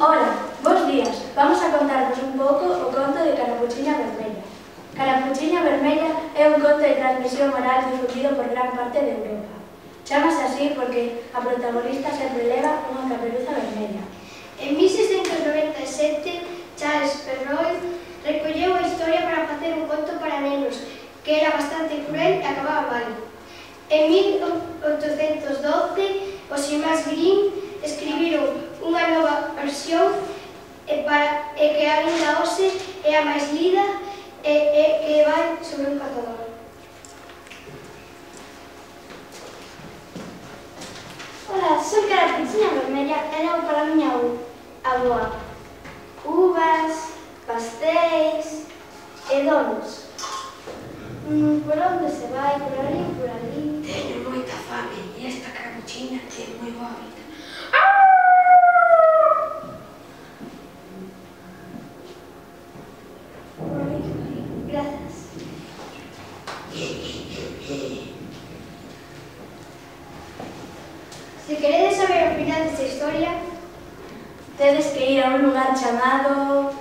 Ola, bons días. Vamos a contarvos un pouco o conto de Carapuchiña Vermella. Carapuchiña Vermella é un conto de transmisión oral difundido por gran parte de Europa. Chámase así porque a protagonista sempre leva unha caperuza vermella. En 1697, Charles Perrault recolleu a historia para facer un conto para nenos, que era bastante cruel e acababa mal. En 1812, os irmáns Grimm escribiron unha nova versión que aínda hoxe é a máis lida e que vai sobre un cazador. Ola, son Carapuchiña Vermella e levo para a miña avoa uvas, pastéis e donos. Por onde se vai? Por ali, por ali. Teño moita fame e esta carapuchiña é moi boa vida. Grazas. Se queredes saber o final desta historia, Tedes que ir a un lugar chamado...